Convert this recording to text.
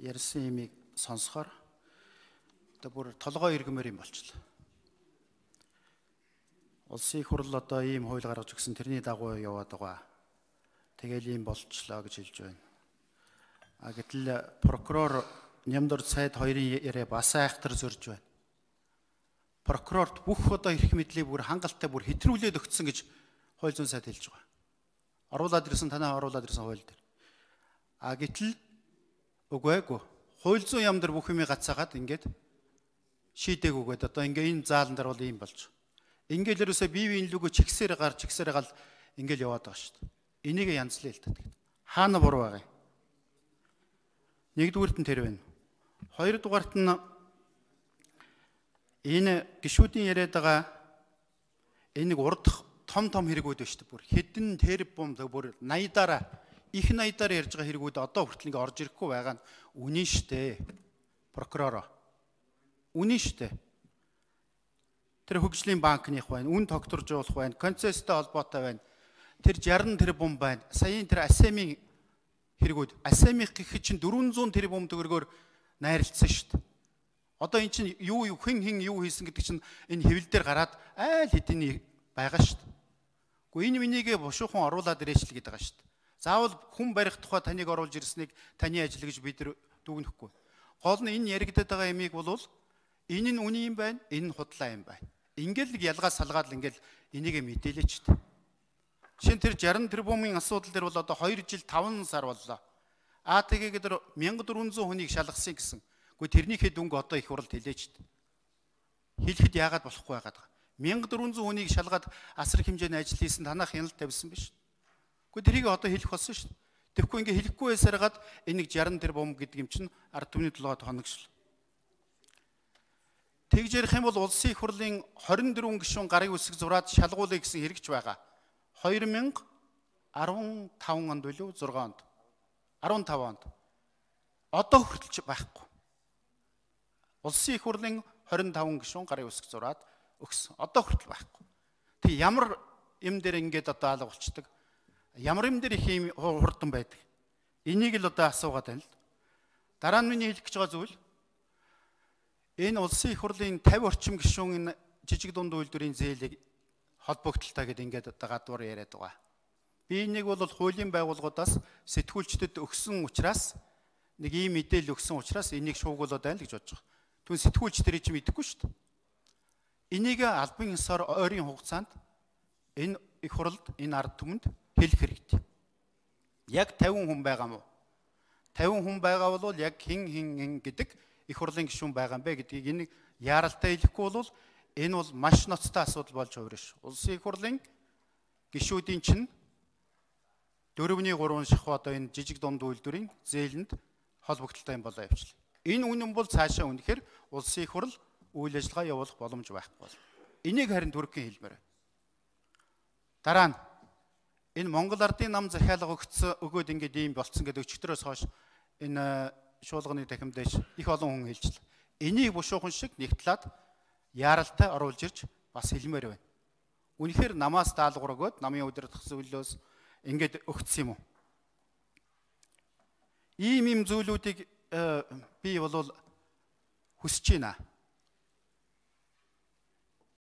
ярьсан имийг сонсохоор одоо бүр толгой иргэмээр юм болчихлоо. Улсын их хурл одоо ийм хууль гаргаж өгсөн тэрний дагуу яваад байгаа. Тэгэл ийм болчихлоо гэж хэлж байна. Гэтэл прокурор Нямдор Цайд хоёрын яриа бас айхтар зөрж байна. Прокурорт бүх одоо эрх мэдлийг бүр хангалттай бүр хэтрүүлээд өгсөн гэж хууль зүйн сайд хэлж байгаа. Оруулаад ирсэн танаа оруулаад ирсэн хууль дээр. Гэтэл үгүй. Хууль зүйн яам дээр бүх юмыг гацаагаад ингээд шийдээгүйгээд одоо ингээ энэ заалан дээр бол ийм болж. Ингээл ерөөсөө бие биеийн лүгөө чигсээр гал ингээл яваад байгаа шүү дээ. Энийг янзлаа л гэдэг. Хаана буруу байгаа юм? Нэгдүгüүрт нь тэр байна. Хоёрдугаарт нь энэ гишүүдийн яриад байгаа энийг урдах том хэрэгүүд байна шүү дээ. Бүр хэдэн тэрбум бүр 80-аараа их 80-аар ярьж байгаа хэрэгүүд одоо хүртэл ингээ орж ирэхгүй байгаа нь үнэн шүү дээ. Прокурор. Үнэн шүү дээ. Тэр хөгжлийн банкных байна, үн тогтворжуулах байна, концесстэй холбоотой байна. Тэр 60 тэрбум байна. Саяын тэр АСЕМ-ийн хэрэгүүд, АСЕМ-ийн гэхэд чинь 400 тэрбум төгрөгөөр найрлцсан шүү дээ. Одоо эн чинь хэн юу хийсэн гэдэг чинь энэ хэвлэл дээр гараад айл хэдийн байгаа шүү дээ. Гэхдээ энэ минийгээ бушуухан оруулаад ирээч л гэдэг байгаа шүү дээ. Заавал хүн барих тухай таныг оруулж ирснийг таны ажил гэж бид дүгнэхгүй. Гол нь энэ яригдаад байгаа ямиг бол энэ нь үний юм байна, энэ нь худлаа юм байна. Ингээл ялгаа салгаад л ингээл энийг мэдээлээч дээ. Жишээ нь тэр 60 тэрбумын асуудал дээр бол одоо 2 жил 5 сар боллоо. Тэгээд тэр 1400 хүнийг шалгасан гэсэн. Гэхдээ тэрнийхээ дүнг одоо их хурлд хэлээч дээ. Хэлэхэд яагаад болохгүй байгаад байгаа. 1400 хүнийг шалгаад асар хэмжээний ажил хийсэн танах хяналт тавьсан биш. Гэхдээ тэрийг одоо хэлэх болсон шүү дээ. Тэгэхгүй ингээ хэлэхгүй байсараад энийг 60 тэрбум гэдэг юм чинь ард түмний толгойд хоногшл. Тэгж ярих юм бол улсын их хурлын 24 гишүүн гарын үсэг зураад шалгуулъя гэсэн хэрэгч байгаа. 2015 онд билүү 6 онд. 15 онд. Одоо хүртэлч байхгүй. Улсын их хурлын 25 гишүүн гарын үсэг зураад өгсөн. Одоо хүртэл байхгүй. Тэг ямар юм дээр ингээд одоо алга болчдөг. Ямар юм дээр их юм хурдан байдаг. Энийг л одоо асуугаад байна л. Дараа нь миний хэлэх гэж байгаа зүйл энэ улсын их хурлын 50 орчим гишүүн жижиг дунд үйлдвэрийн зээлийг холбогдолтой гэдэг ингээд одоо гадуур яриад байгаа. Би энийг бол хуулийн байгууллагуудаас сэтгүүлчдэд өгсөн учраас нэг ийм мэдээлэл өгсөн учраас энийг шуугуулад байна л гэж бодож байгаа. Түн сэтгүүлчдэр чинь мэдэхгүй шүү дээ. Энийг албан ёсоор ойрын хугацаанд энэ их хурлд энэ ард түмэнд хэлэх хэрэгтэй. Яг 50 хүн байгаа мó? 50 хүн байгаа бол яг хин гэдэг их хурлын гишүүн байгаа юм бэ гэдгийг энийг яаралтай хэлэхгүй бол энэ бол маш ноцтой асуудал болж хувирна ш. Улсын их хурлын гишүүдийн чинь 4-3 шахуу одоо энэ жижиг дунд үйлдвэрийн зээлэнд холбогдолтой юм болоо явчлаа. Энэ үнэн бол цаашаа үнэхээр улсын их хурл үйл ажиллагаа явуулах боломж байхгүй бол. Энийг харин түргэн хэлмээр. Дараа нь энэ Монгол Ардын нам захиалга өгөөд ингээд ийм болцсон гэдэг өчигдрөөс хойш энэ шуулганы дахимдэж их олон хүн хэлжлээ. Энийг бушуухан шиг нэг талаад яаралтай оруулж ирж бас хэлмээр байна. Үнэхээр намаас даалгавар өгөөд намын удирдах зөвлөлөөс ингээд өгсөн юм уу? Ийм зүйлүүдийг би бол хүсэж байна.